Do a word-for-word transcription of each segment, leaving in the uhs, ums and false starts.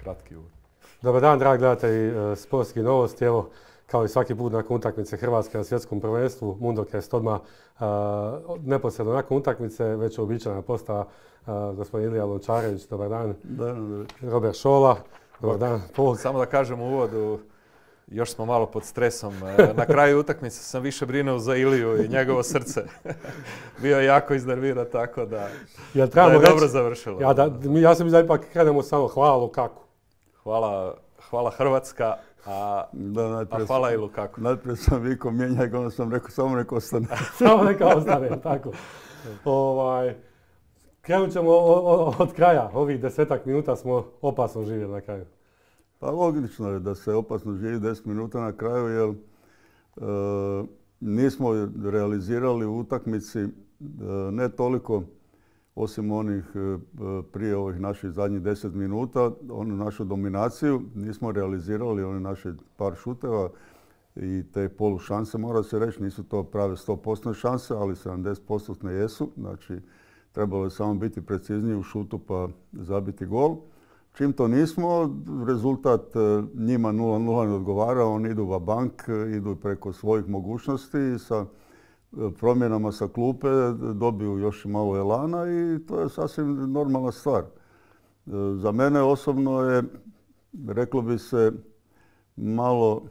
kratki uvod. Dobar dan, dragi gledatelji Sportskih novosti. Evo, kao i svaki put nakon utakmice Hrvatske na svjetskom prvenstvu, Mundokest odmah uh, neposredno nakon utakmice, već uobičajena postava uh, gospodin Ilija Lončarević. Dobar dan. Da, da. Robert Šola. Dobar dan. Pol. Samo da kažem u uvodu, još smo malo pod stresom. Na kraju utakmice sam više brinuo za Iliju i njegovo srce. Bio je jako iznerviran, tako da, ja da je reći, dobro završilo. Ja, da, ja sam da ipak krenemo samo hvala Lukaku. Hvala, hvala Hrvatska, a, da, a hvala i Lukaku. Najprije sam vikao mijenjaj ga, onda sam rekao samo neka ostane. Samo neka ostane, tako. Ovaj, krenut ćemo od kraja. Ovih desetak minuta smo opasno živjeli na kraju. Pa logično je da se opasno živi deset minuta na kraju, jer e, nismo realizirali u utakmici e, ne toliko, osim onih e, prije ovih naših zadnjih deset minuta, onu našu dominaciju, nismo realizirali one naše par šuteva i te polu šanse, mora se reći, nisu to prave sto posto šanse, ali sedamdeset posto jesu, znači trebalo je samo biti precizniji u šutu pa zabiti gol. Čim to nismo, rezultat njima nula nula ne odgovara, oni idu va bank, idu preko svojih mogućnosti i sa promjenama sa klupe dobiju još malo elana i to je sasvim normalna stvar. Za mene osobno je, reklo bi se, malo,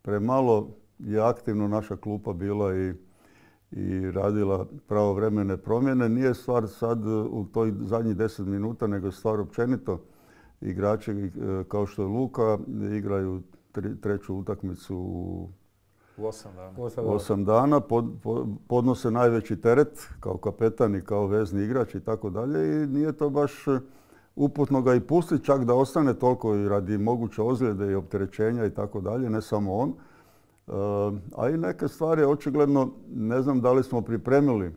premalo je aktivno naša klupa bila i, i radila pravovremene promjene. Nije stvar sad u toj zadnjih deset minuta, nego je stvar općenito. Igrači kao što je Luka igraju tri, treću utakmicu u osam dana, osam dana pod, pod, podnose najveći teret kao kapetan i kao vezni igrač i tako dalje i nije to baš uputno ga i pustiti čak da ostane toliko i radi moguće ozljede i opterećenja i tako dalje, ne samo on. A i neke stvari očigledno ne znam da li smo pripremili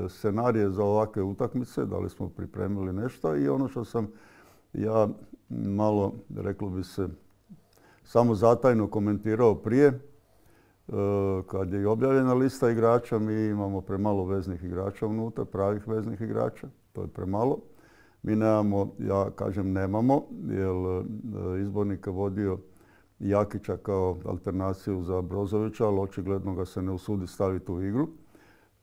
scenarije za ovakve utakmice, da li smo pripremili nešto i ono što sam ja malo, reklo bi se, samo zatajno komentirao prije, kad je i objavljena lista igrača, mi imamo premalo veznih igrača unutra, pravih veznih igrača, to je premalo. Mi nemamo, ja kažem nemamo, jer izbornik je vodio Jakića kao alternaciju za Brozovića, ali očigledno ga se ne usudi staviti u igru.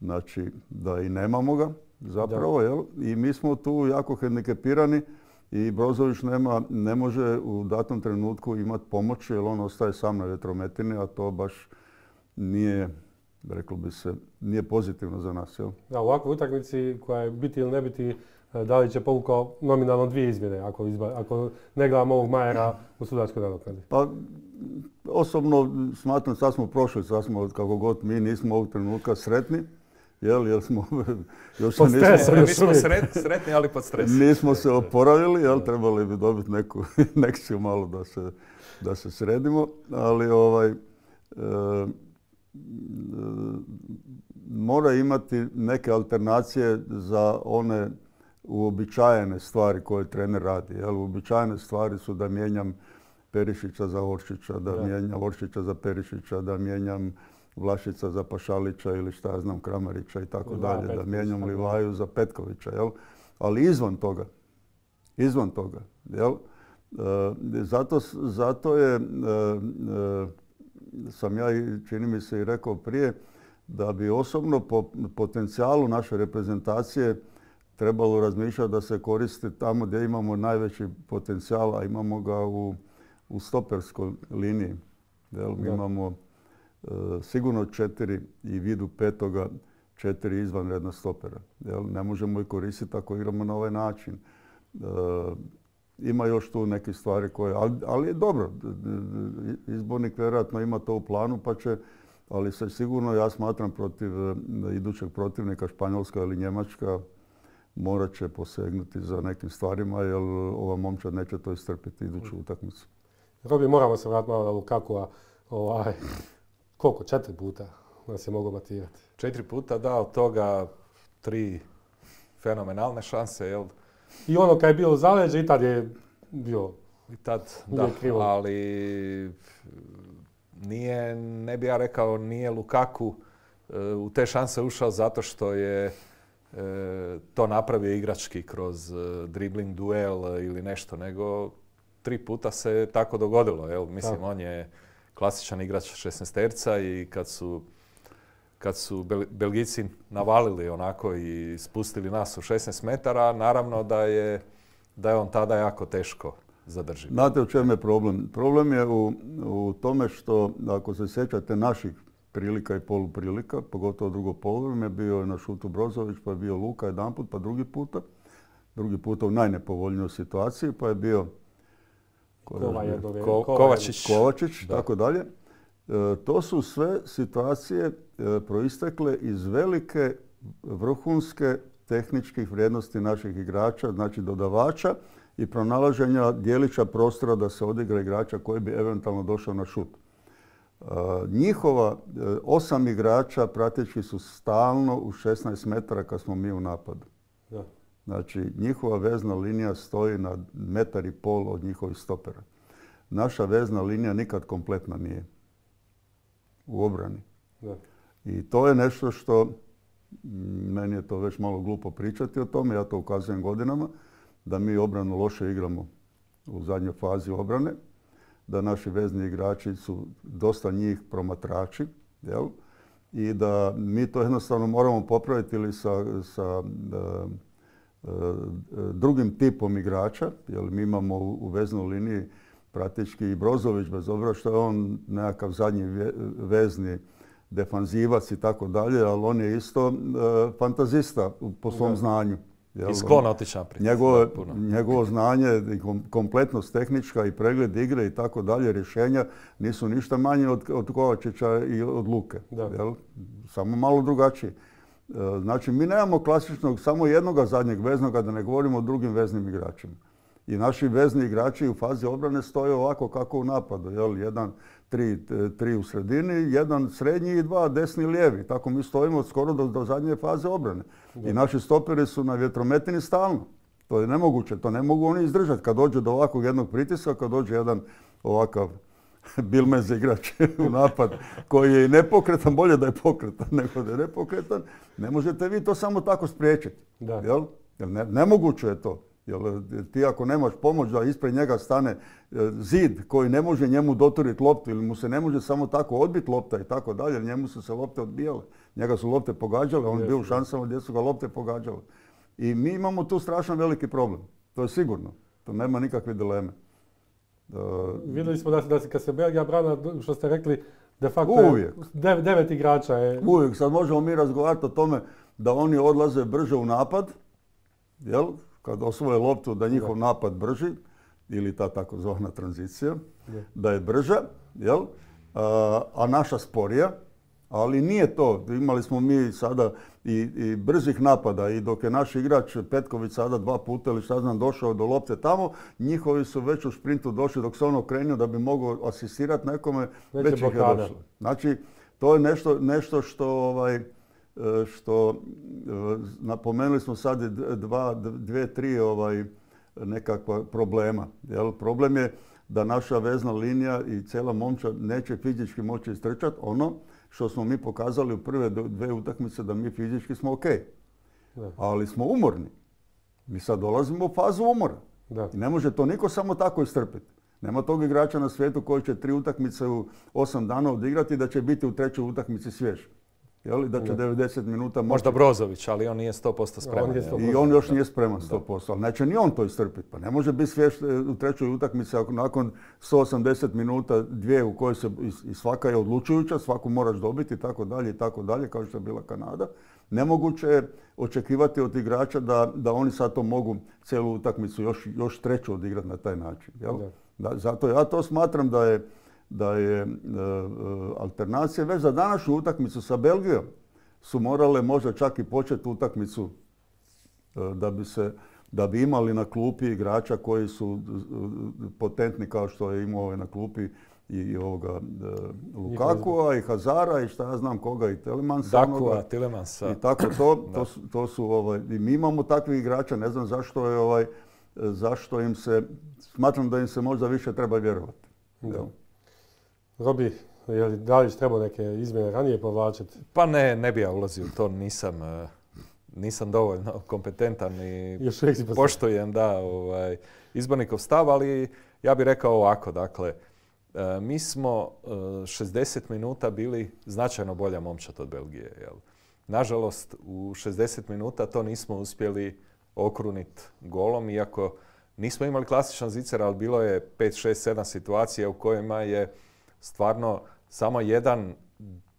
Znači da i nemamo ga zapravo, jel? I mi smo tu jako hendikepirani i Brozović nema, ne može u datom trenutku imati pomoć jer on ostaje sam na vjetrometini, a to baš nije, reklo bi se, nije pozitivno za nas. Jel? Da, u ovakvoj utakmici koja je biti ili ne biti, da li će povukao nominalno dvije izmjene ako, izba, ako ne gledamo ovog Majera u sudačkoj nadoknadi? Pa, osobno smatram, sad smo prošli, sad smo kako god mi nismo ovog trenutka sretni. Jel, jel smo, još pod stresom, nismo, mi smo sret, sretni, ali pod stresom. Nismo se oporavili, jel, trebali bi dobiti neku injekciju malo da se, da se sredimo, ali ovaj, e, e, mora imati neke alternacije za one uobičajene stvari koje trener radi. Jel, uobičajene stvari su da mijenjam Perišića za Oršića, da, da. mijenjam Oršića za Perišića, da mijenjam Vlašića za Pašalića ili šta ja znam Kramarića i tako dalje, da mijenjam Livaju za Petkovića, jel? Ali izvan toga, izvan toga, jel? E, zato, zato je, e, e, sam ja, čini mi se i rekao prije, da bi osobno po potencijalu naše reprezentacije trebalo razmišljati da se koristi tamo gdje imamo najveći potencijal, a imamo ga u, u stoperskoj liniji, jel? Mi imamo sigurno četiri i vidu petoga četiri izvanredna stopera. Jel? Ne možemo ih koristiti ako igramo na ovaj način. E, ima još tu neke stvari koje, ali, ali je dobro. Izbornik vjerojatno ima to u planu pa će, ali se sigurno ja smatram protiv idućeg protivnika Španjolska ili Njemačka morat će posegnuti za nekim stvarima jer ova momčad neće to istrpiti iduću utakmicu. Robi, moramo se vratiti malo na Lukakua. Ovaj, koliko? Četiri puta nas je mogao matirati. Četiri puta, da, od toga tri fenomenalne šanse, jel? I ono kad je bilo zaleđe i tad je bio I tad, da, krivo. Ali nije, ne bi ja rekao, nije Lukaku e, u te šanse ušao zato što je e, to napravio igrački kroz e, dribling, duel ili nešto, nego tri puta se tako dogodilo. Jel? Mislim, Da. on je klasičan igrač šesnaesterca i kad su, kad su Bel- Belgijci navalili onako i spustili nas u šesnaest metara, naravno da je, da je on tada jako teško zadrživ. Znate u čemu je problem? Problem je u, u tome što, ako se sjećate naših prilika i poluprilika, pogotovo drugo poluvreme, bio je na šutu Brozović, pa je bio Luka jedanput, pa drugi puta. Drugi puta u najnepovoljnijoj situaciji, pa je bio Kova je dobio- Ko- Kova je- Kovačić. Kovačić, Da. tako dalje. E, to su sve situacije e, proistekle iz velike vrhunske tehničkih vrijednosti naših igrača, znači dodavača i pronalaženja dijelića prostora da se odigra igrača koji bi eventualno došao na šut. E, njihova e, osam igrača praktički su stalno u šesnaest metara kad smo mi u napadu. Da. Znači, njihova vezna linija stoji na metar i pol od njihovih stopera. Naša vezna linija nikad kompletna nije u obrani. Da. I to je nešto što, mm, meni je to već malo glupo pričati o tome, ja to ukazujem godinama, da mi obranu loše igramo u zadnjoj fazi obrane, da naši vezni igrači su dosta njih promatrači, jel? I da mi to jednostavno moramo popraviti ili sa, sa e, drugim tipom igrača, jer mi imamo u, u veznoj liniji praktički i Brozović, bez obzira što je on nekakav zadnji ve, vezni defanzivac i tako dalje, ali on je isto e, fantazista po svom Da. znanju. Jel? I sklon otići naprijed. Njegovo, Puno. njegovo znanje, i kom- kompletnost tehnička i pregled igre i tako dalje, rješenja nisu ništa manje od, od Kovačića i od Luke. Da. Jel? Samo malo drugačiji. E, Znači, mi nemamo klasičnog, samo jednoga zadnjeg veznoga, da ne govorimo o drugim veznim igračima. I naši vezni igrači u fazi obrane stoje ovako kako u napadu. Jel? Jedan, tri, e, tri u sredini, jedan srednji i dva desni i lijevi. Tako mi stojimo skoro do, do zadnje faze obrane. I naši stoperi su na vjetrometini stalno. To je nemoguće, to ne mogu oni izdržati. Kad dođe do ovakvog jednog pritiska, kad dođe jedan ovakav bilmez igrač u napad koji je i nepokretan, bolje da je pokretan nego da je nepokretan, ne možete vi to samo tako spriječiti. Da. Jel? Jer ne, nemoguće je to. Jer ti ako nemaš pomoć da ispred njega stane e, zid koji ne može njemu doturiti loptu ili mu se ne može samo tako odbiti lopta i tako dalje, jer njemu su se lopte odbijale. Njega su lopte pogađale, on je bio u šansama gdje su ga lopte pogađale. I mi imamo tu strašno veliki problem. To je sigurno. To nema nikakve dileme. E, Vidjeli smo da, se- da se kad se Belgija brana, što ste rekli, de facto Uvijek. dev- devet igrača je... Uvijek. Sad možemo mi razgovarati o tome da oni odlaze brže u napad, jel? Kad osvoje loptu da njihov napad brži, ili ta takozvana tranzicija, Da. da je brža, jel? A, a naša sporija, ali nije to. Imali smo mi sada i, i brzih napada i dok je naš igrač Petković sada dva puta ili šta znam došao do lopte tamo, njihovi su već u šprintu došli dok se on okrenuo da bi mogao asistirati nekome, Već već je ih je blokada. došlo. Znači, to je nešto, nešto što, ovaj, e, što e, napomenuli smo sad i d- dva, d- dvije, tri ovaj, nekakva problema. Jel? Problem je da naša vezna linija i cijela momčad neće fizički moći istrčati ono što smo mi pokazali u prve do- dve utakmice da mi fizički smo ok. Da. Ali smo umorni. Mi sad dolazimo u fazu umora. Da. I ne može to niko samo tako istrpiti. Nema tog igrača na svijetu koji će tri utakmice u osam dana odigrati i da će biti u trećoj utakmici svjež. Jel? Da će Da. devedeset minuta moći. Možda Brozović, ali on nije sto posto spreman. On je jel? sto- I on još nije spreman sto posto, ali neće ni on to istrpiti. Pa ne može biti svjež e, u trećoj utakmici ako nakon sto osamdeset minuta, dvije u kojoj se, i, i svaka je odlučujuća, svaku moraš dobiti i tako dalje i tako dalje, kao što je bila Kanada. Nemoguće je očekivati od igrača da, da oni sad to mogu cijelu utakmicu još, još treću odigrati na taj način. Jel? Da. Da, zato ja to smatram da je, da je e, e, alternacija već za današnju utakmicu sa Belgijom su morale možda čak i početi utakmicu e, da bi se da bi imali na klupi igrača koji su e, potentni kao što je imao ovaj na klupi i, i ovoga e, Lukakua i Hazara i šta ja znam koga i Telemansa. Dakua, onoga. Tilemansa. I tako to, to su, to su ovaj, i mi imamo takvih igrača, ne znam zašto je ovaj, zašto im se, smatram da im se možda više treba vjerovati. Da. Jel? Robi, je li Dalić trebao neke izmjene ranije povlačiti? Pa ne, ne bi ja ulazio u to, nisam, eh, nisam dovoljno kompetentan i Još uvijek si postavio. poštujem da, ovaj, izbornikov stav, ali Ja bih rekao ovako, dakle, mi smo šezdeset minuta bili značajno bolja momčad od Belgije. Jel? Nažalost, u šezdeset minuta to nismo uspjeli okruniti golom, iako nismo imali klasičan zicer, ali bilo je pet, šest, sedam situacija u kojima je stvarno samo jedan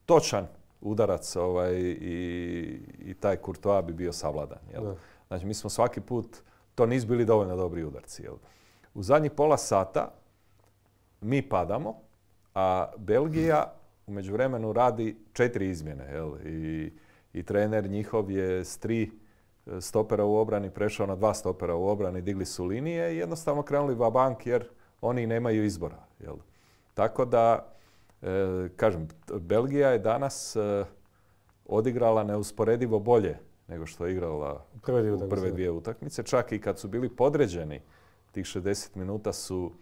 točan udarac ovaj, i, i taj Courtois bi bio savladan. Jel? Znači, mi smo svaki put, to nisu bili dovoljno dobri udarci. Jel? U zadnjih pola sata mi padamo, a Belgija u međuvremenu radi četiri izmjene. Jel? I, I trener njihov je s tri stopera u obrani prešao na dva stopera u obrani, digli su linije i jednostavno krenuli va bank jer oni nemaju izbora. Jel? Tako da, e, kažem, Belgija je danas e, odigrala neusporedivo bolje nego što je igrala u prve, u prve dvije utakmice. Čak i kad su bili podređeni, tih šezdeset minuta su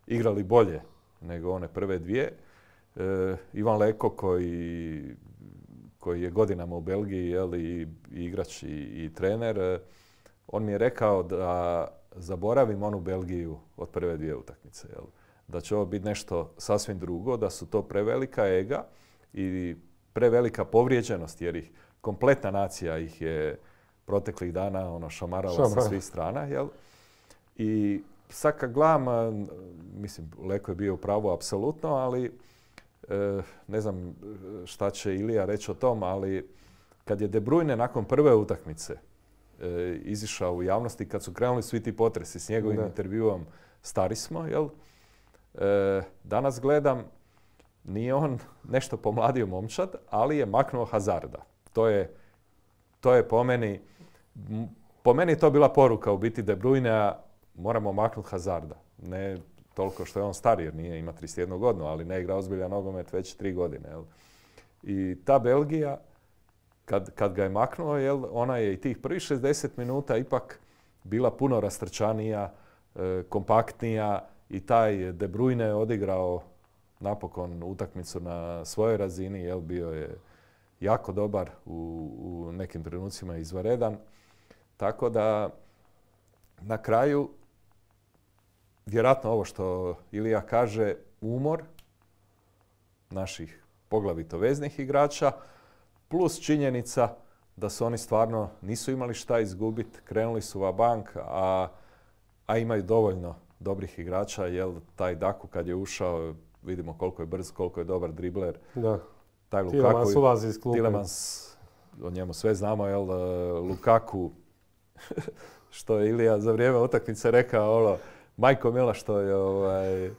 igrali bolje nego one prve dvije. E, Ivan Leko koji, koji je godinama u Belgiji, jel, i, i igrač i, i trener, on mi je rekao da zaboravim onu Belgiju od prve dvije utakmice. Jel. Da će ovo biti nešto sasvim drugo, da su to prevelika ega i prevelika povrijeđenost, jer ih kompletna nacija ih je proteklih dana ono, šamarala Šamar. sa svih strana. Jel? I sad kad gledam, mislim, Leko je bio u pravu apsolutno, ali e, ne znam šta će Ilija reći o tom, ali kad je De Bruyne nakon prve utakmice e, izišao u javnosti, kad su krenuli svi ti potresi s njegovim da. intervjuom, stari smo, jel? E, danas gledam, nije on nešto pomladio momčad, ali je maknuo Hazarda. To je, to je po meni, po meni je to bila poruka u biti De Bruyne, moramo maknuti Hazarda. Ne toliko što je on star jer nije, ima trideset jednu godinu, ali ne igra ozbiljan nogomet već tri godine. Jel? I ta Belgija, kad, kad ga je maknuo, jel, ona je i tih prvih šezdeset minuta ipak bila puno rastrčanija, e, kompaktnija i taj De Bruyne je odigrao napokon utakmicu na svojoj razini, jel, bio je jako dobar, u, u nekim trenucima izvanredan. Tako da na kraju, vjerojatno ovo što Ilija kaže, umor naših poglavito veznih igrača, plus činjenica da su oni stvarno nisu imali šta izgubiti, krenuli su va bank, a, a imaju dovoljno dobrih igrača, jer taj Daku kad je ušao, vidimo koliko je brz, koliko je dobar dribler. Da. Taj Lukaku, Tielemans ulazi iz klupe. Tielemans, o njemu sve znamo, jel, Lukaku, što je Ilija za vrijeme utakmice rekao, ono, majko mila što je, ovaj,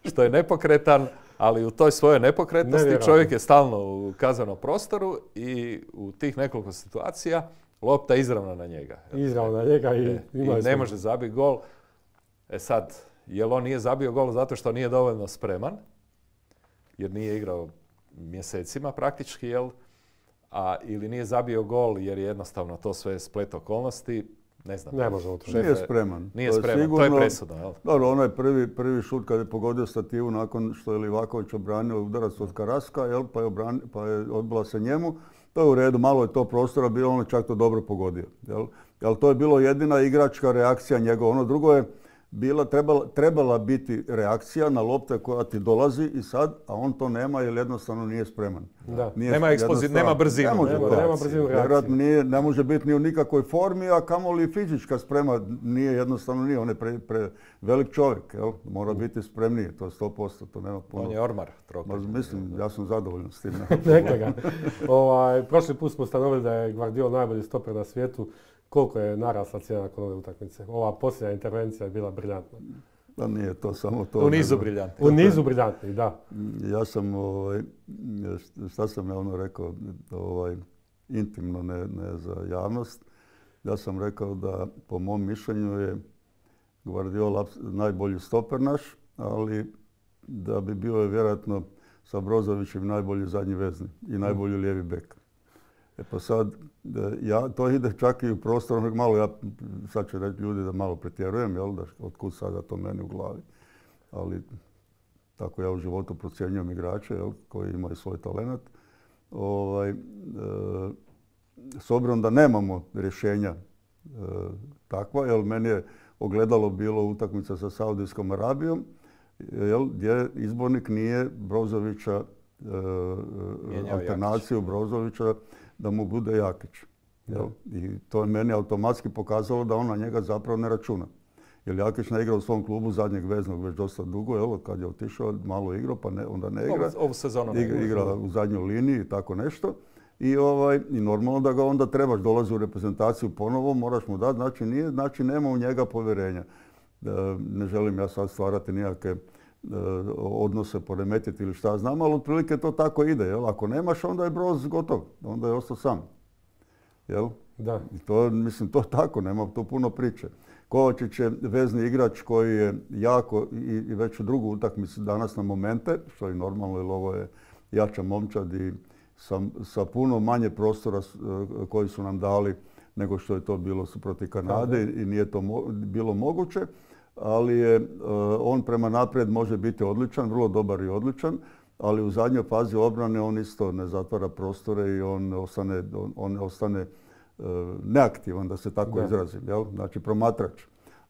što je nepokretan, ali u toj svojoj nepokretnosti čovjek je stalno u kaznenom prostoru i u tih nekoliko situacija lopta izravno na njega. Izravno na njega i, e, i ne može zabiti gol. E sad, jel on nije zabio gol zato što nije dovoljno spreman, jer nije igrao mjesecima praktički, jel? A, ili nije zabio gol jer je jednostavno to sve splet okolnosti, ne znam. Ne možemo to. Nije spreman. Nije to spreman, sigurno, to je presudno, jel? Dobro, onaj prvi, prvi šut kad je pogodio stativu nakon što je Livaković obranio udarac od Karaska, jel? Pa je, obran, pa je odbila se njemu. To je u redu, malo je to prostora bilo, on je čak to dobro pogodio, jel? Jel to je bilo jedina igračka reakcija njegova. Ono drugo je bila, trebala, trebala biti reakcija na lopte koja ti dolazi i sad, a on to nema jer jednostavno nije spreman. Da. Nije nema ekspozit, nema brzinu. Ne može, nema, nema brzinu reakcije. Nije, ne može biti ni u nikakvoj formi, a kamoli fizička sprema nije jednostavno nije. On je pre, pre velik čovjek, jel? Mora biti spremniji, to je sto posto, to nema puno. On je ormar. Trokat. Mislim, ja sam zadovoljan s tim. Neka ga. Ovaj, prošli put smo ustanovili da je Guardiola najbolji stoper na svijetu. Koliko je narasla cijena nakon ove utakmice? Ova posljednja intervencija je bila briljantna. Da nije to samo to. U nizu briljantni. U nizu briljantni, da. Ja sam, ovaj, šta sam ja ono rekao, ovaj, intimno, ne, ne za javnost. Ja sam rekao da po mom mišljenju je Guardiola najbolji stoper naš, ali da bi bio je vjerojatno sa Brozovićem najbolji zadnji vezni i najbolji lijevi bek. E pa sad, ja, to ide čak i u prostoru, malo ja, sad će reći ljudi da malo pretjerujem, jel, da otkud sada to meni u glavi. Ali tako ja u životu procjenjujem igrače, jel, koji imaju svoj talent. Ovaj, e, s obzirom da nemamo rješenja e, takva, jel, meni je ogledalo bilo utakmica sa Saudijskom Arabijom, jel, gdje izbornik nije Brozovića, e, alternaciju Brozovića da mu bude Jakić. Jel? I to je meni automatski pokazalo da on na njega zapravo ne računa. Jer Jakić ne igra u svom klubu zadnjeg veznog već dosta dugo, jel, kad je otišao malo igrao pa ne, onda ne igra. Ovu sezonu ne igra. Igra u zadnjoj liniji i tako nešto. I, ovaj, I normalno da ga onda trebaš, dolazi u reprezentaciju ponovo, moraš mu dati, znači, nije, znači nema u njega povjerenja. E, ne želim ja sad stvarati nikakve e, odnose, poremetiti ili šta znam, ali otprilike to tako ide. Jel? Ako nemaš, onda je Broz gotov, onda je ostao sam. Jel? Da. I to, mislim, to tako, nema tu puno priče. Kovačić je vezni igrač koji je jako i, i već u drugu utakmicu danas na momente, što je normalno jer ovo je jača momčad i sa, sa puno manje prostora koji su nam dali nego što je to bilo protiv Kanade i nije to mo, bilo moguće, ali je uh, on prema naprijed može biti odličan, vrlo dobar i odličan, ali u zadnjoj fazi obrane on isto ne zatvara prostore i on ostane, on, on ostane uh, neaktivan, da se tako da. izrazim, jel? Znači promatrač.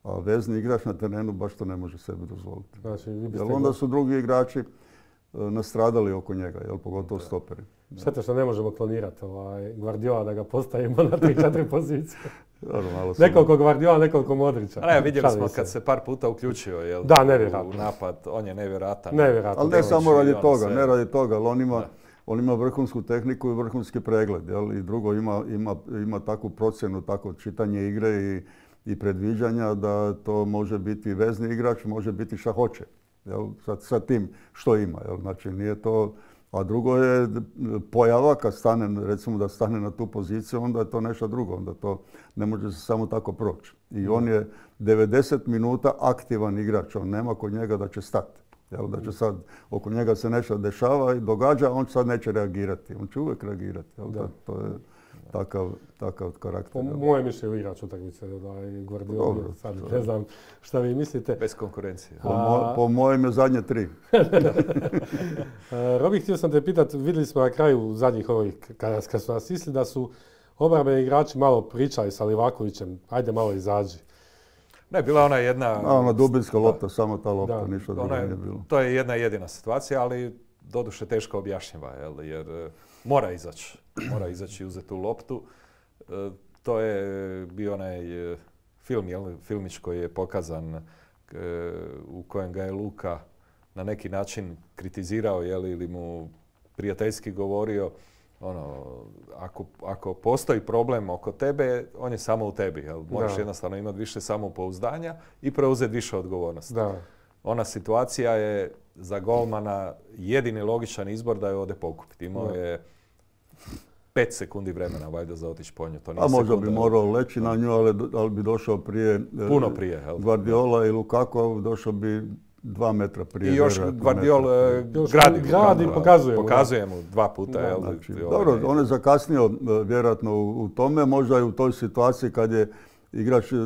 A vezni igrač na terenu baš to ne može sebi dozvoliti. Znači, jel onda su drugi igrači uh, nastradali oko njega, jel? Pogotovo stoperi. Šteta što ne možemo klonirati ovaj Guardiola da ga postavimo na tri četiri pozicije. Nekoliko Guardiola, nekoliko Modrića. Ne, vidjeli smo kad se par puta uključio jel, da, nevjerojatno. u napad, on je nevjerojatan. Nevjerojatan. Ali ne samo radi toga, sve... ne radi toga, ali on ima, on ima vrhunsku tehniku i vrhunski pregled. Jel? I drugo, ima, ima, ima takvu procjenu, takvo čitanje igre i, i predviđanja da to može biti vezni igrač, može biti šta hoće. Jel? Sa, sa tim što ima. Jel? Znači nije to... A drugo je pojava kad stane, recimo da stane na tu poziciju, onda je to nešto drugo, onda to ne može se samo tako proći. I on je devedeset minuta aktivan igrač, on nema kod njega da će stati. Jel, da će sad oko njega se nešto dešava i događa, on sad neće reagirati, on će uvijek reagirati. Jel, da. To je takav, takav karakter. Po moje mišljenje igrač utakmice, da je Guardiola, sad ne znam šta vi mislite. Bez konkurencije. Po, mo, po mojem je zadnje tri. Robi, htio sam te pitati, vidjeli smo na kraju zadnjih ovih, kada, kada su nas isli da su obrambeni igrači malo pričali sa Livakovićem, ajde malo izađi. Ne, bila ona jedna... A, ona dubinska lopta, samo ta lopta, da. Ništa drugo nije bilo. To je jedna jedina situacija, ali doduše teško objašnjiva, jel, jer mora izaći. Mora izaći i uzeti tu loptu. E, to je bio onaj film, jel, filmić koji je pokazan e, u kojem ga je Luka na neki način kritizirao, jel, ili mu prijateljski govorio ono, ako, ako postoji problem oko tebe, on je samo u tebi. Jel? Moraš da. jednostavno imati više samopouzdanja i preuzeti više odgovornosti. Da. Ona situacija je za golmana jedini logičan izbor da je ode pokupiti. Imao je pet sekundi vremena valjda za otići po nju. To nije a možda sekunda, bi morao leći na nju, ali, ali bi došao prije puno prije. Jel? Guardiola i Lukaku, došao bi dva metra prije. I još Guardiola gradi, gradi i pokazuje mu. Pokazuje mu dva puta. Da, jel, znači, ovaj, dobro, on je zakasnio vjerojatno u, u tome, možda i u toj situaciji kad je igrač uh,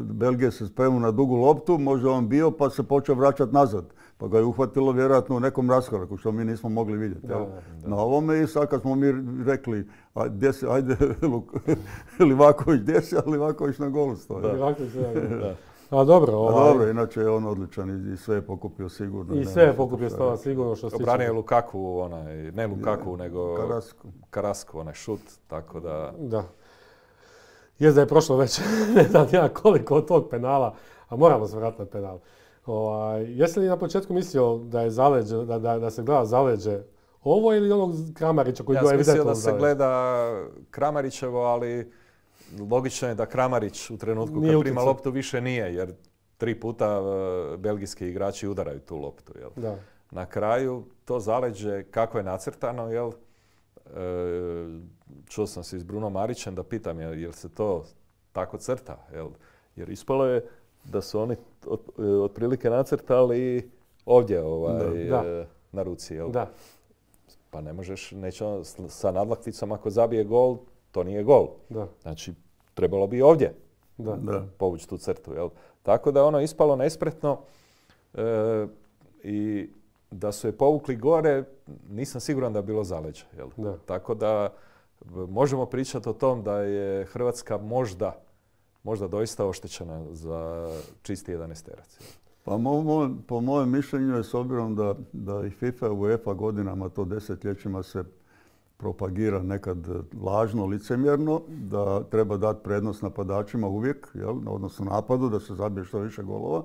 Belgije se spremio na dugu loptu, možda on bio pa se počeo vraćati nazad. Pa ga je uhvatilo vjerojatno u nekom raskoraku što mi nismo mogli vidjeti. Da, da. Na ovome i sad kad smo mi rekli a, gdje si, ajde Livaković, gdje si, a Livaković na golu stoji. Da. Livaković, da, da. A dobro, ovaj... A dobro, inače je on odličan i sve je pokupio sigurno. I sve je pokupio stava sigurno što se tiče. Obranio je Lukaku, onaj, ne Lukaku, je, nego Karasku. Karasku, onaj šut, tako da... Da. Jest da je prošlo već, ne znam ja koliko od tog penala, a moramo se vratiti na penal. Ovaj, jesi li na početku mislio da je zaleđe, da, da, da se gleda zaleđe ovo ili onog Kramarića koji ja bio evidentno zaleđe? Ja sam mislio da se zaleđe. gleda Kramarićevo, ali logično je da Kramarić u trenutku nije kad prima utjecaj. loptu više nije, jer tri puta uh, belgijski igrači udaraju tu loptu. Jel? Da. Na kraju to zaleđe kako je nacrtano, jel? E, čuo sam se s Bruno Marićem da pitam jel, jel se to tako crta, jel? Jer ispalo je da su oni od, otprilike nacrtali ovdje ovaj, da. e, na ruci. Jel? Da. Pa ne možeš, neće on sa nadlakticom ako zabije gol, to nije gol. Da. Znači, trebalo bi ovdje Da. Da. povući tu crtu. Jel? Tako da ono ispalo nespretno e, i da su je povukli gore, nisam siguran da je bilo zaleđe. Jel? Da. Tako da možemo pričati o tom da je Hrvatska možda možda doista oštećena za čisti jedanaesterac. Pa mo, mo, po mojem mišljenju je s obzirom da, da i FIFA i UEFA godinama, to desetljećima se propagira nekad lažno, licemjerno, da treba dati prednost napadačima uvijek, jel, odnosno napadu, da se zabije što više golova.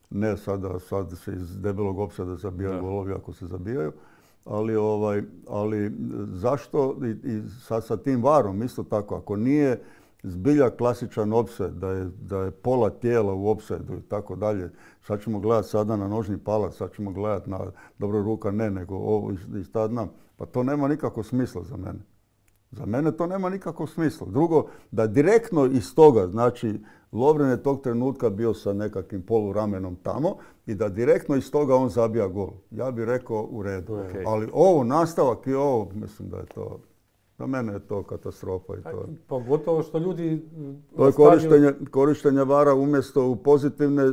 Ne sada, sad se iz debelog opsada zabijaju golovi ako se zabijaju. Ali, ovaj, ali zašto i, i sa, sa tim varom isto tako, ako nije zbilja klasičan opsed, da je, da je pola tijela u opsedu i tako dalje, sad ćemo gledati sada na nožni palac, sad ćemo gledati na dobro ruka ne, nego ovo i, i šta znam. Pa to nema nikakvog smisla za mene. Za mene to nema nikakvog smisla. Drugo, da direktno iz toga, znači Lovren je tog trenutka bio sa nekakvim poluramenom tamo i da direktno iz toga on zabija gol. Ja bih rekao u redu. Okay. Ali ovo, nastavak i ovo, mislim da je to, za mene je to katastrofa. I to. Pogotovo što ljudi... To je korištenje, korištenje vara umjesto u pozitivne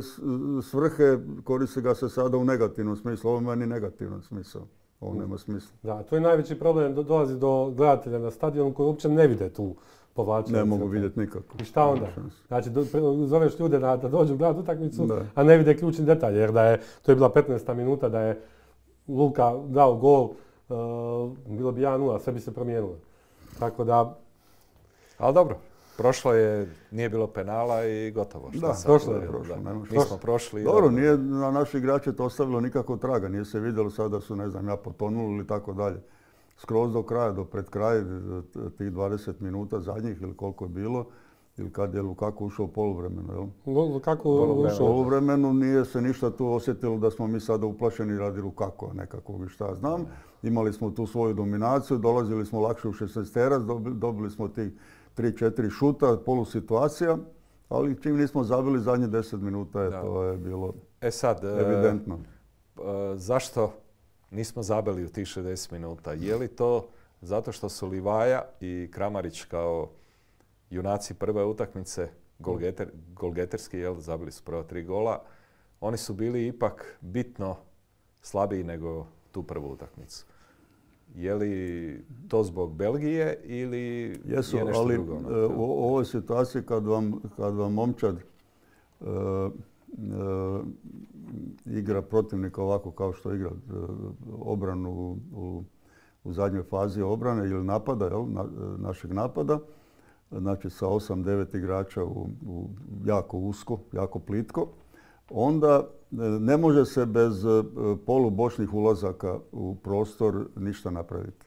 svrhe, koristi ga se sada u negativnom smislu. Ovo ima ni negativan smisao. Ovo nema smisla. Da, to je najveći problem, dolazi do gledatelja na stadionu koji uopće ne vide tu povlačenje. Ne mogu vidjeti nikako. I šta onda? Znači, zoveš ljude da, da dođu gledati utakmicu, a ne vide ključni detalj. Jer da je, to je bila petnaesta minuta da je Luka dao gol, uh, bilo bi jedan nula, sve bi se promijenilo. Tako da... Ali dobro, prošlo je, nije bilo penala i gotovo. Šta da, prošlo je. Prošlo, da. Nismo prošli. Dobro, da, nije na naši igrače to ostavilo nikako traga. Nije se vidjelo sada da su, ne znam, ja potonuli ili tako dalje. Skroz do kraja, do pred kraj, tih dvadeset minuta zadnjih ili koliko je bilo, ili kad je Lukaku ušao u poluvremenu, jel? Lukaku ušao. U poluvremenu nije se ništa tu osjetilo da smo mi sada uplašeni radi Lukaku, nekakvog i šta znam. Imali smo tu svoju dominaciju, dolazili smo lakše u šesnaesterac, dobili smo tih tri četiri šuta, polusituacija, ali čim nismo zabili zadnje deset minuta, je, to je bilo e sad, evidentno. E, zašto nismo zabili u tih šezdeset minuta? Je li to zato što su Livaja i Kramarić kao junaci prve utakmice, golgeter, golgeterski, jel, zabili su prva tri gola, oni su bili ipak bitno slabiji nego tu prvu utakmicu? Je li to zbog Belgije ili Jesu, je nešto ali, drugo? Ali u ovoj situaciji kad vam, kad vam momčad uh, uh, igra protivnika ovako kao što igra uh, obranu u, u zadnjoj fazi obrane ili napada, jel, na, našeg napada, znači sa osam devet igrača u, u jako usko, jako plitko, onda ne može se bez polubočnih ulazaka u prostor ništa napraviti.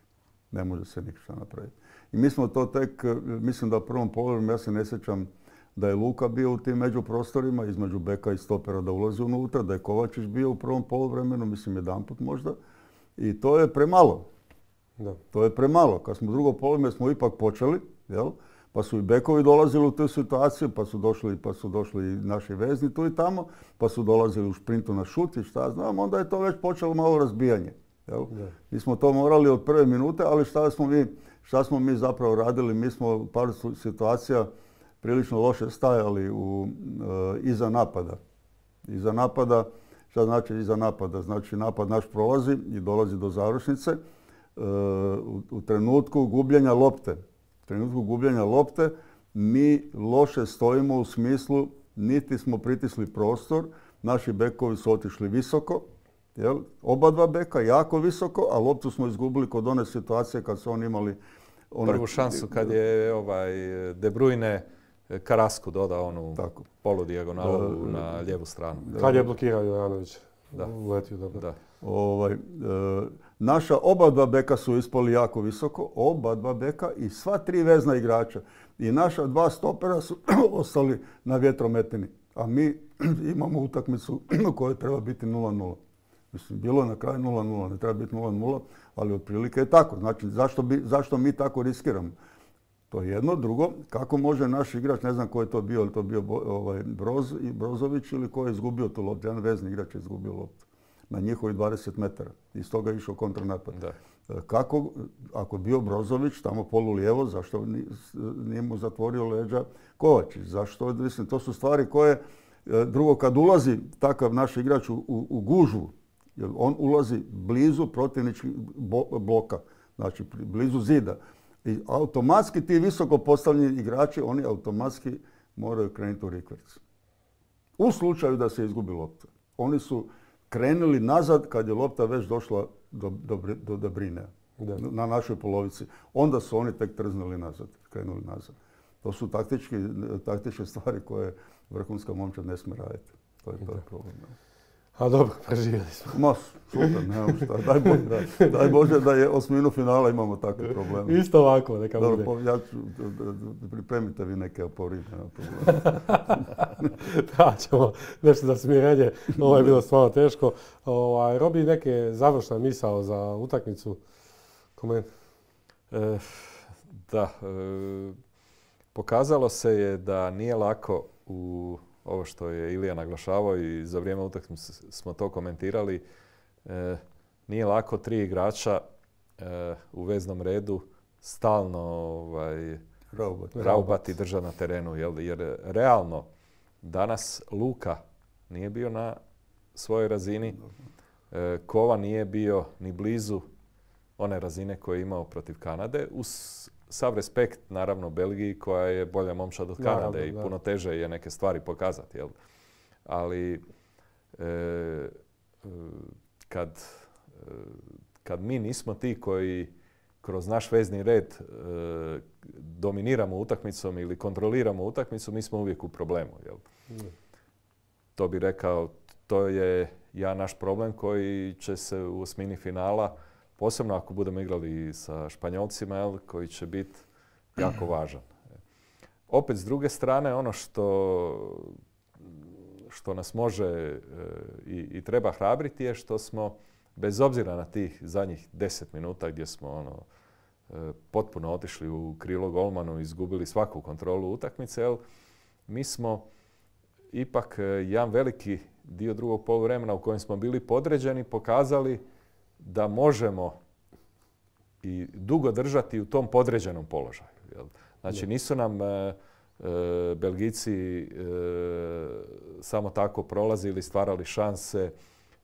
Ne može se ništa napraviti. I mi smo to tek, mislim da u prvom poluvremenu, ja se ne sjećam da je Luka bio u tim međuprostorima, između beka i stopera da ulazi unutra, da je Kovačić bio u prvom poluvremenu, mislim jedanput možda. I to je premalo. Da. To je premalo. Kad smo drugo poluvreme smo ipak počeli, jel? Pa su i bekovi dolazili u tu situaciju, pa su došli, pa su došli i naši vezni tu i tamo, pa su dolazili u šprintu na šut i šta znam, onda je to već počelo malo razbijanje. Jel? Mi smo to morali od prve minute, ali šta smo mi, šta smo mi zapravo radili? Mi smo u par situacija prilično loše stajali u, e, iza napada. Iza napada, šta znači iza napada? Znači napad naš prolazi i dolazi do završnice. E, u, u trenutku gubljenja lopte. U trenutku gubljenja lopte mi loše stojimo u smislu niti smo pritisli prostor, naši bekovi su otišli visoko, jel? Oba dva beka jako visoko, a loptu smo izgubili kod one situacije kad su oni imali... One... Prvu šansu kad je ovaj De Bruyne Karasku dodao onu poludijagolalu na lijevu stranu. Kad je blokirao Jovanović. Da. Uletio dobro. Da. Ovaj, e, naša oba dva beka su ispali jako visoko, oba dva beka i sva tri vezna igrača. I naša dva stopera su ostali na vjetrometini. A mi imamo utakmicu u kojoj treba biti nula nula. Mislim, bilo je na kraju nula nula, ne treba biti nula nula, ali otprilike je tako. Znači, zašto, bi, zašto mi tako riskiramo? To je jedno. Drugo, kako može naš igrač, ne znam ko je to bio, ili to bio ovaj, Broz, Brozović ili ko je izgubio tu loptu. Jedan vezni igrač je izgubio loptu na njihovi dvadeset metara. Iz toga je išao kontranapad. Da. Kako, ako je bio Brozović tamo polu lijevo, zašto nije mu zatvorio leđa Kovačić? Zašto? Mislim, to su stvari koje, drugo, kad ulazi takav naš igrač u, u, u gužvu, jer on ulazi blizu protivničkih bloka, znači blizu zida. I automatski ti visoko postavljeni igrači, oni automatski moraju krenuti u rikverc. U slučaju da se izgubi lopta. Oni su krenuli nazad kad je lopta već došla do, do, do Debrinea, na našoj polovici. Onda su oni tek trznuli nazad, krenuli nazad. To su taktički, taktičke stvari koje vrhunska momčad ne smije raditi. To je, to je problem. A dobro, preživjeli smo. Ma, super, nemam šta. Daj Bože, da, daj Bože da je osminu finala imamo takve probleme. Isto ovako, neka bude. Dobro, ja ću, pripremite vi neke aporine. Nema problema. Da, ćemo nešto za smirenje. Ovo je bilo stvarno teško. Ovaj, Robi, neke završna misao za utakmicu? Koment? E, da, e, pokazalo se je da nije lako u ovo što je Ilija naglašavao i za vrijeme utakmice smo to komentirali. E, nije lako tri igrača e, u veznom redu stalno ovaj, raubati, raubati i držati na terenu. Jer, jer realno danas Luka nije bio na svojoj razini. E, Kova nije bio ni blizu one razine koje je imao protiv Kanade. Uz sav respekt, naravno, Belgiji koja je bolja momčad od Kanade naravno, i da. Puno teže je neke stvari pokazati. Jel? Ali e, kad, e, kad mi nismo ti koji kroz naš vezni red e, dominiramo utakmicom ili kontroliramo utakmicu, mi smo uvijek u problemu. Jel? Mm. To bi rekao, to je ja naš problem koji će se u osmini finala, posebno ako budemo igrali sa Španjolcima, jel, koji će biti jako važan. Opet, s druge strane, ono što, što nas može e, i, i treba hrabriti je što smo, bez obzira na tih zadnjih deset minuta gdje smo ono, e, potpuno otišli u krilo golmanu i izgubili svaku kontrolu utakmice, jel, mi smo ipak jedan veliki dio drugog poluvremena u kojem smo bili podređeni pokazali da možemo i dugo držati u tom podređenom položaju. Jel? Znači nisu nam e, e, Belgijci e, samo tako prolazili, stvarali šanse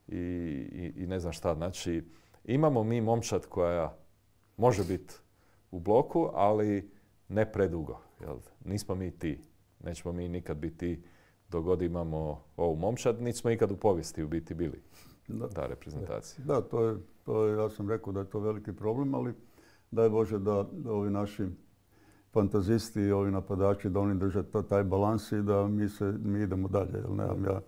i, i, i ne znam šta. Znači imamo mi momčad koja može biti u bloku, ali ne predugo. Jel? Nismo mi ti. Nećemo mi nikad biti ti dok god imamo ovu momčad. Niti smo ikad u povijesti u biti bili. Da. Ta reprezentacija. Da, to je, to je, ja sam rekao da je to veliki problem, ali daj Bože da, da ovi naši fantazisti i ovi napadači, da oni drže taj balans i da mi, se, mi idemo dalje. Jer nemam ja,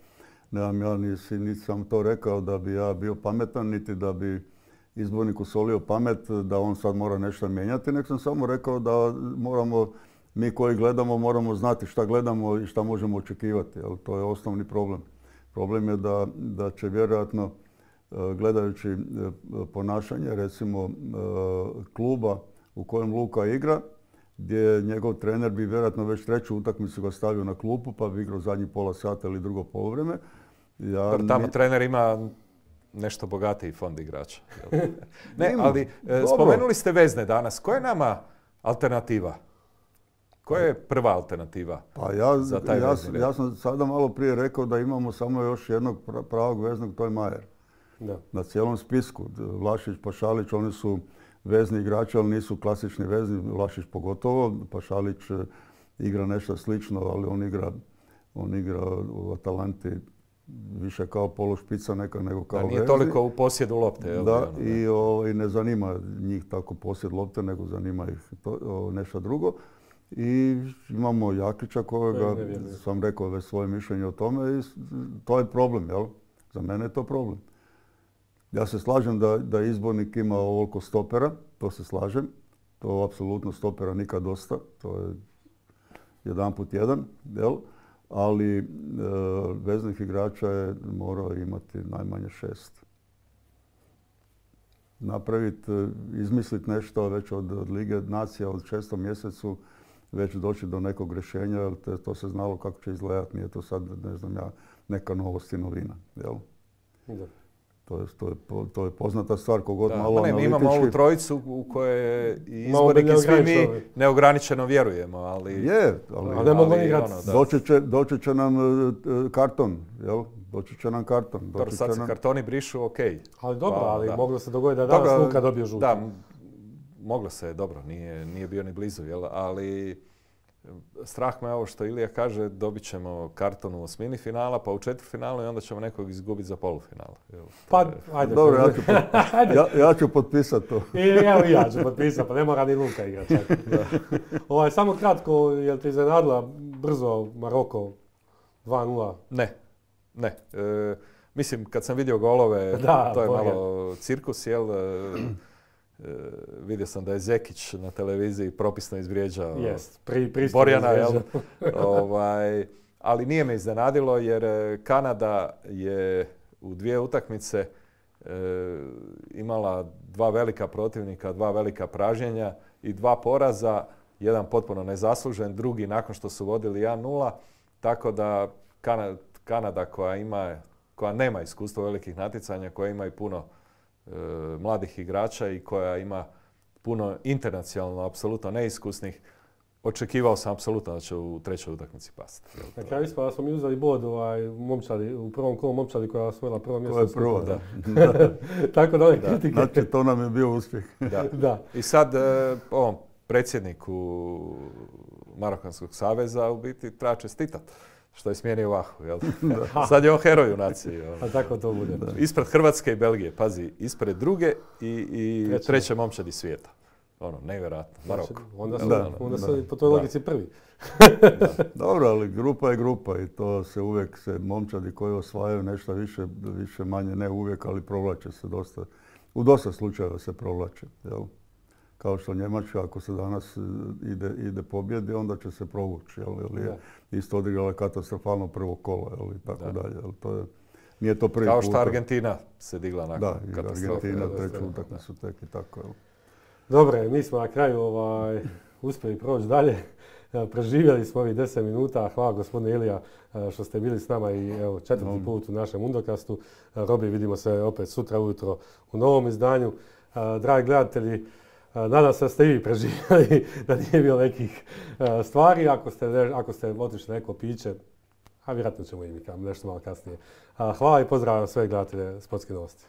nemam ja nisi, niti sam to rekao da bi ja bio pametan, niti da bi izborniku solio pamet da on sad mora nešto mijenjati, nek sam samo rekao da moramo, mi koji gledamo, moramo znati šta gledamo i šta možemo očekivati. Jer to je osnovni problem. Problem je da, da će vjerojatno, gledajući ponašanje, recimo, kluba u kojem Luka igra, gdje njegov trener bi vjerojatno već treću utakmicu ga stavio na klupu, pa bi igrao zadnji pola sata ili drugo poluvreme. Ja Tamo ni... trener ima nešto bogatiji fond igrača. Ne, ali spomenuli ste vezne danas. Koja je nama alternativa? Koja je prva alternativa pa ja, za taj ja, vezni red? Ja sam sada malo prije rekao da imamo samo još jednog pravog veznog, to je Majer. Da. Na cijelom spisku. Vlašić, Pašalić, oni su vezni igrači, ali nisu klasični vezni. Vlašić pogotovo. Pašalić igra nešto slično, ali on igra, on igra u Atalanti više kao polušpica neka nego kao da, nije vezni. toliko u posjedu lopte. Jel? Da, ono, i, o, i ne zanima njih tako posjed lopte, nego zanima ih to, o, nešto drugo. I imamo Jaklića kojega sam rekao već svoje mišljenje o tome i to je problem, jel? Za mene je to problem. Ja se slažem da, da izbornik ima ovoliko stopera, to se slažem. To apsolutno stopera nikad dosta, to je jedan put jedan, jel? Ali e, veznih igrača je morao imati najmanje šest. Napraviti, izmisliti nešto već od, od Lige nacija od šestom mjesecu, već doći do nekog rješenja, jer te, to se znalo kako će izgledati, nije to sad, ne znam ja, neka novost i novina, jel? Da. To je, to, je, to je poznata stvar, kogod da, malo ne, analitički... Mi imamo ovu trojicu u kojoj izbornik i svi mi neograničeno vjerujemo, ali... Je, ali... ali, ali ono, doći, će, doći će nam uh, karton, jel? Doći će nam karton. Dobro, sad se nam... kartoni brišu, okej. Okay. Ali dobro, pa, ali da. Moglo se dogoditi da danas Luka dobio žuti. Da, moglo se, dobro, nije, nije bio ni blizu, jel? Ali strah me ovo što Ilija kaže, dobit ćemo karton u osmini finala, pa u četvrtfinalu i onda ćemo nekog izgubiti za polufinal. Pa, ajde. Dobro, ja ću, pot, ja, ja ću potpisati to. I, evo i ja ću potpisati, pa ne mora ni Luka igrati. Ovaj, samo kratko, je li te iznenadila brzo Maroko dva nula? Ne, ne. E, mislim, kad sam vidio golove, da, to je bolje. malo cirkus, jel? E, vidio sam da je Zekić na televiziji propisno izvrijeđao Jest, pri, Borjana, jel? ovaj, ali nije me iznenadilo jer Kanada je u dvije utakmice e, imala dva velika protivnika, dva velika pražnjenja i dva poraza, jedan potpuno nezaslužen, drugi nakon što su vodili jedan nula, tako da Kanada, Kanada koja ima, koja nema iskustva velikih natjecanja, koja ima i puno e, mladih igrača i koja ima puno internacionalno, apsolutno neiskusnih, očekivao sam apsolutno da će u trećoj utakmici pasti. Na kraju ispada da smo mi uzeli bod ovaj, momčadi, u prvom kolu momčadi koja je osvojila prvo mjesto. To je prvo, da. da. Tako da ove da. kritike. Znači, to nam je bio uspjeh. Da. da. I sad e, ovom predsjedniku Marokanskog saveza u biti treba čestitati što je smijenio Vahu. Jel? Sad je on heroj u naciji. A tako to bude. Da. Ispred Hrvatske i Belgije, pazi, ispred druge i, i treće. treće momčadi svijeta. Ono, nevjerojatno, Maroko. Znači, onda su, da, onda su da, po toj da. logici prvi. Da. Dobro, ali grupa je grupa i to se uvijek se momčadi koji osvajaju nešto više, više manje, ne uvijek, ali provlače se dosta. U dosta slučajeva se provlače. Jel? Kao što Njemačka, ako se danas ide, ide pobjedi, onda će se provući. Jel? Jel je isto odigrala katastrofalno prvo kolo, jel? I tako da. dalje. Jel? To je, nije to prvi Kao puta. što Argentina se digla nakon da, katastrofe. Argentina treću utakmicu tek i tako. Jel? Dobre, mi smo na kraju ovaj, uspjeli proći dalje. Preživjeli smo ovih deset minuta. Hvala gospodine Ilija što ste bili s nama i evo, četvrti no. put u našem Mundokastu. Robi, vidimo se opet sutra ujutro u novom izdanju. Dragi gledatelji, nadam se da ste i vi preživjeli, da nije bilo nekih stvari. Ako ste, ako ste otišli neko piće, a vjerojatno ćemo i mi nešto malo kasnije. Hvala i pozdravljam sve gledatelje Sportske novosti.